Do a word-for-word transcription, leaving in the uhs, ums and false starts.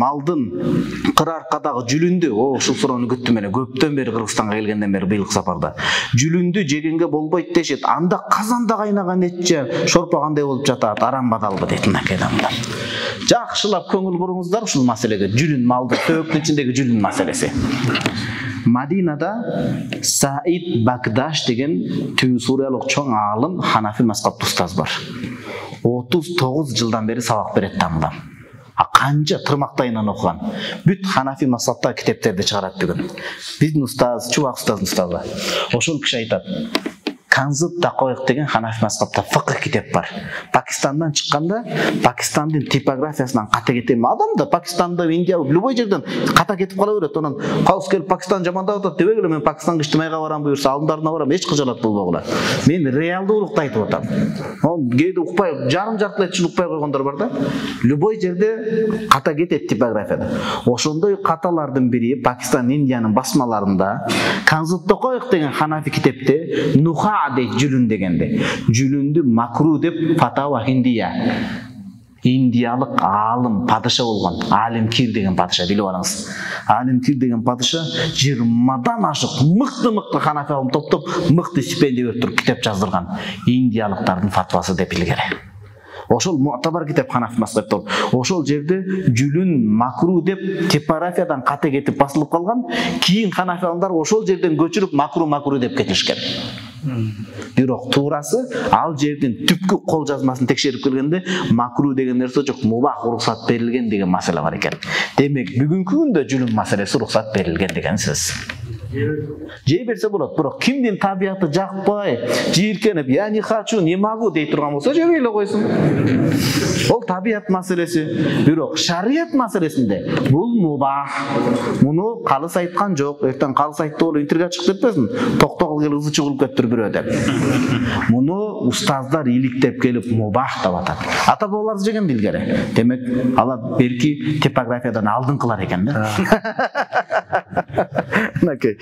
малдын кыр аркадагы жүлүндү, о ушул суроону күттүм эле көптөн бери Кыргызстанга келгенден бери быйылкы сапарда. Жүлүндү жегенге болбойт дешет. Анда казанда кайнаган эт же шорпо кандай болуп жатат? Арам бадалбы дейт мынакей адамдар. Жакшылап көңүл буруңуздар ушул маселеге. Жүлүн малды төөктүн ичиндеги жүлүн маселеси. Мадинада Саид Багдаш деген Түбү Суриялык чоң аалым Ханафи мазхабы устаз бар. отуз тогуз жылдан бери сабак берет тамдан. А канча тырмактайынан окуган. Бүт Ханафи мазхабта китептерди чыгарат бүгүн. Биздин устаз, Чубак устаздын устазы. Ошол киши айтат. Канзут Дакоек деген Ханафи мазхабта фикх китеп бар. Пакистандан чыкканда, Пакистандын типографиясынан ката кетем. Адам да Пакистанда, Индия, любой жерден ката кетип кала берет. Онан калыс келип Пакистан жамандап атат дебегиле, мен Пакистанга иштемейге барам буюрса, алдымдарына барам, эч кыжалат болбогула. Мен реалдуулукту айтып атам. Он кээде укпай, жарым жартылай үчүн укпай койгондор бар да. Любой жерде ката кетет типографияда. Ошондой каталардын бири Пакистан, Индиянын басмаларында Канзут Дакоек деген Ханафи китепте Нуха дейт жүлүн дегенде. Жүлүндү макру деп Фатава Индия. Индиялык аалым падыша болгон, Алим Кир деген падыша, билип алыңыз. Алим Кир деген падыша жыйырмадан ашык мыкты-мыкты Ханафи алым топтоп, мыкты стипендия берип туруп китеп жаздырган. Индиялыктардын фатвасы деп илгери. Ошол муътабар китеп Ханафи мазхабы. Ошол жерде жүлүн макру деп типографиядан ката кетип басылып калган. Кийин Ханафи алымдар ошол жерден көчүрүп макру макру деп кетишкен. Бирок туурасы ал жердин түпкү кол жазмасын текшерип келгенде макру деген нерсе жок, мубах уруксат берилген деген маселе бар экен. Демек бүгүнкү күндө жүлүн маселеси уруксат берилген деген сөз. Жей берсе болот, бирок кимдин табияты жакпай, жийиркенип, я не хочу, не могу дей турган болсо жебей эле койсун. Ол табият маселеси. Бирок шарият маселесинде бул мубах. Муну калыс айткан жок. Эртең калыс айтты болуп интернетке чыгып кетпесин. Токтогул кел ызы чыгылып кетти бирөө деп. Муну устаздар иликтеп келип мубах деп атат. Ата бабалар жеген билгери. Демек алар берки типографиядан алдыңкылар экен да. Накей